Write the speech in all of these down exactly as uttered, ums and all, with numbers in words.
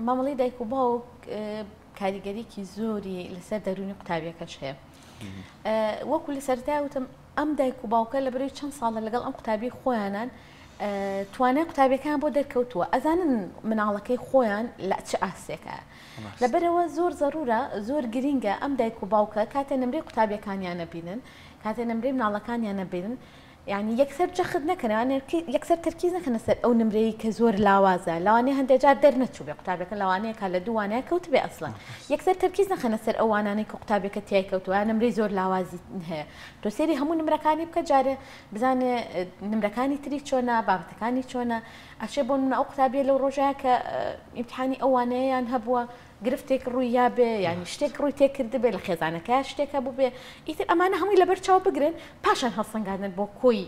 مامەڵەی دایک و باوک کاریگەریکی زۆری لەسەر دەروونی قوتابیەکەش هەیە. وەکو لە سەرەتای وتم ئەم دایک و باوکە لە بەرەی چەند ساڵە لەگەڵ ئەم قوتابی خۆیانان توانای قوتابیەکان بۆ دەرکەوتووە، ئەزانن مناڵەکەی خۆیان لە چ ئاستێکە. لەبەرەوە زۆر زەرورە، زۆر گرینگە ئەم دایک و باوکە کاتێ نمرەی قوتابیەکانیان نەبینن، کاتێ نمرەی مناڵەکانیان نەبینن، یعنی یەکسەر جەخت نەکەن، یەکسەر تەرکیز نەکەنە سەر ئەو نمرەی کە زۆر لاوازە، لەوانەیە هەندێک جار دەرنەچوو بێ قوتابیەکە، لەوانەیە کە لە دوو وانەیە کەوت بێ ئەسڵەن، یەکسەر تەرکیز نەخەنە سەر ئەو وانانەی کە قوتابیەکە تیای کەوتووە، نمرەی زۆر لاوازی هەیە. تۆ سەیری هەموو نمرەکانی بکە، جارێ بزانێ نمرەکانی تری چۆنە، بابەتەکانی چۆنە. ئەشێ بۆ نمونە ئەو قوتابیە لەو ڕۆژەیە کە ئیمتحانی ئەو وانەیەیان هەبووە گرفتێک ڕووی یابێ، یعنی شتێک ڕووی تێکردبێ، لە خێزانەکە شتێک هەبوو بێ، ئیتر ئەمانە هەمووی لەبەر چاو بگرن، پاشان هەڵسەنگاندن بۆ کۆی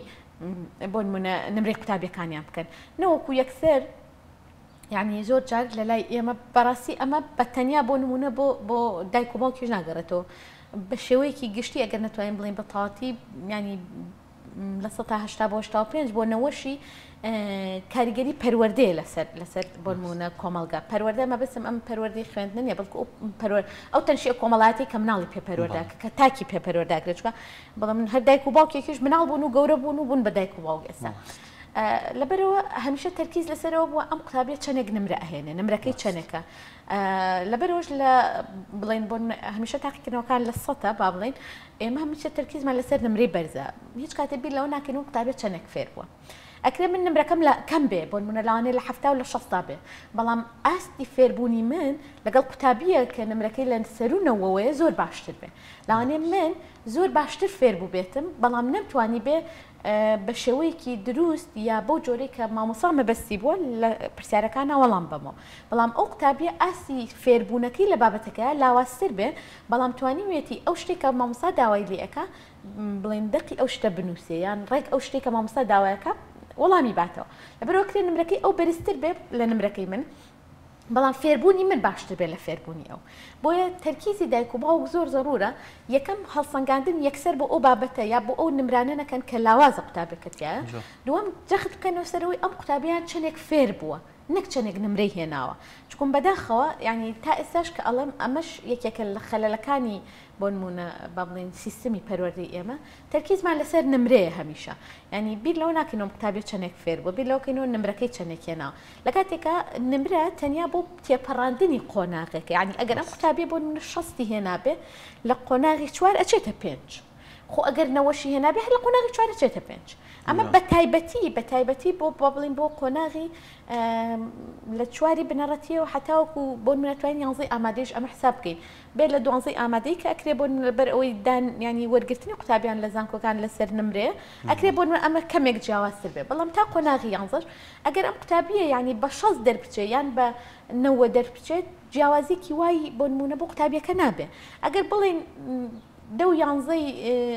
بۆ نمونە نمرەی قوتابیەکانیان بکەن، نەوەکو یەکسەر. یعنی زۆر جار لە لای ئێمە بەڕاستی ئەمە بە تەنیا بۆ نمونە بۆ بۆ دایک و باوکیش ناگەڕێتەوە، بە شێوەیەکی گشتی ئەگەر نەتوانین بڵێین بە تەواوەتی، یعنی لە سەدا هەشتا بۆ هەشتا و پێنج بۆ نەوەشی کاریگەری پەروەردەیە لەسەر لەسەر بۆ نمونە کۆمەڵگا. پەروەردە مەبەستم ئەم پەروەردەی خوێندن نییە، بەڵکو ئەو تەنشیە کۆمەڵایەتی کە مناڵی پێ پەروەردە کە تاکی پێ پەروەرداکرێت، چونکە بەڵام هەر دایک و باوکێکیش مناڵ بوون و گەورە بوون و بوون بە دایک و باوک ئێستا. لەبەرەوە هەمیشە تەرکیز لەسەرەوە بووە ئەم قوتابیە چەندێک نمرە ئەهێنێ، نمرەکەی چەندێکە. لەبەرەوەش لە بڵێن بۆ هەمیشە تاقیکردنەوەکان لە سەتە با بڵێن ئێمە هەمیشە تەرکیزمان لەسەر نمرەی بەرزە، هیچ کاتێک بیر لەوە ناکەین ئەم قوتابیە چەندێک فێر بووە. ئەکرێ من نمرەکەم لە کەم بێ، بۆ نمونە لەوانەیە لە حەفتا و لە شەستا بێ، بەڵام ئاستی فێربوونی من لەگەڵ قوتابیە کە نمرەکەی لە سەروو نەوەوەیە زۆر باشتر بێ. لەوانەیە من زۆر باشتر فێر بوو بێتم، بەڵام نەمتوانی بێ بە شێوەیەکی دروست یا بەو جۆرەی کە مامۆستا مەبەستی بووە لە پرسیارەکانە وەڵام بەمەوە، بەڵام ئەو قوتابیە ئاستی فێربوونەکەی لە بابەتەکەیە لاوازتر بێ، بەڵام توانیویەتی ئەو شتێک کە مامۆستا داوای لێ ئەکا بڵێن دەقی ئەو شتە بنووسێ، یان ڕێک ئەو شتێک کە مامۆستا داوایەکە وەڵامی باتەوە. لەبەرەوە کرێ نمرەکەی ئەو بەرزتر بێ لە نمرەکەی من، بەڵام فێربوونی من باشتر بێ لە فێربوونی ئەو. بۆیە تەرکیزی دایک و باوک زۆر زەرورە یەکەم هەڵسەنگاندن یەکسەر بۆ ئەو بابەتە یا بۆ ئەو نمرانە نەکەن کە لاوازە قوتابیەکە تیایە. دووەم جەخت بکەنەوە سەرەوەی ئەم قوتابیان چەندێک فێر بووە، نەک چەندێک نمرەی هێناوە. چونکە بەداخەوە یعنی تا ئێستاش کە ئەڵێم ئەمەش یەکێکە لە خەلەلەکانی بۆ نمونە با بڵێین سیستمی پەروەردەی ئێمە، تەرکیزمان لەسەر نمرەیە هەمیشە، یعنی بیر لەوە ناکەینەوە قوتابیە چەندێک فێر بووە، بیر لەوە کەینەوە نمرەکەی چەندێک هێناوە. لە کاتێکا نمرە تەنیا بۆ تێپەڕاندنی قۆناغێکە، یعنی ئەگەر ئەم قوتابیە بۆ نمونە شەستی هێنابێ لە قۆناغی چوار ئەچێتە پێنج، خۆ ئەگەر نەوەشی هێنابێ هەر لە قۆناغی چوار ئەچێتە پێنج. ئەمە بە تایبەتی بە تایبەتی بۆ با بڵێین بۆ قۆناغی لە چواری بنەڕەتیەوە حتاوەکو بۆ نمونە توانین یانزەی ئامادەیش ئەمە حساب بکەین، بێت لە دوانزەی ئامادەی کە ئەکرێ بۆ نمونە بەر ئەوەی دان ینی وەرگرتنی قوتابیان لە زانکۆکان لەسەر نمرێ ئەکرێ بۆ نمونە ئەمە کەمێک جیاوازتر بێ، بەڵام تا قۆناغی یانزەش ئەگەر ئەم قوتابیە ینی بە شەست دەربچێ یان بە نەوە دەربچێت جیاوازیکی وای بۆ نمونە بۆ قوتابیەکە نابێ. ئەگەر بڵێن دەو یانزەی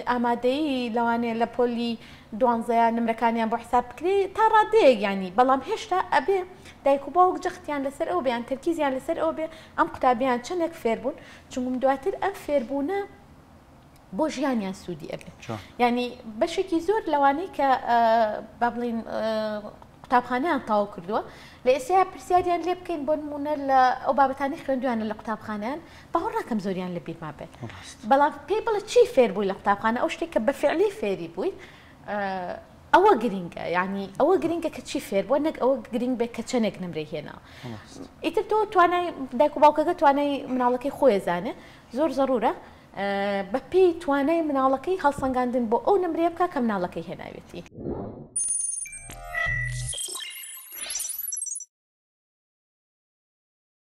ئامادەیی لەوانەیە لە پۆلی دوانزەیە نمرەکانیان بۆ حساب بکرێ تا ڕادەیەک ینی، بەڵام هێشتا ئەبێ دایک و باوک جەختیان لەسەر ئەو بێ یان تەرکیزیان لەسەر ئەو بێ ئەم قوتابیان چەندێک فێربوون، چونکم دواتر ئەم فێربوونە بۆ ژیانیان سوودی ئەبێ. یعنی بەشێکی زۆر لەوانەی کە با بڵێین قوتابخانەیان تەواو کردووە لە ئێستا پرسیاریان لێ بکەین بۆ نمونە لە ئەو بابەتانی خوێندویانە لە قوتابخانەیان باوەڕ ناکەم زۆریان لە بیرما بێت، بەڵام پێی بڵێ چی فێر بووی لە قوتابخانە، ئەو شتێک کە بە فعلی فێری بووی ئەوە گرینگە، یعنی ئەوە گرینگە کە چی فێر بووە، نەک ئەوە گرینگ بێت کە چەندێک نمرەی هێناوە. ئیتر تۆ توانای دایک و باوکەکە توانای مناڵەکەی خۆی زانێ، زۆر زەرورە بە پێی توانای مناڵەکەی هەڵسەنگاندن بۆ ئەو نمرەیە بکە کە مناڵەکەی هێناوێتی.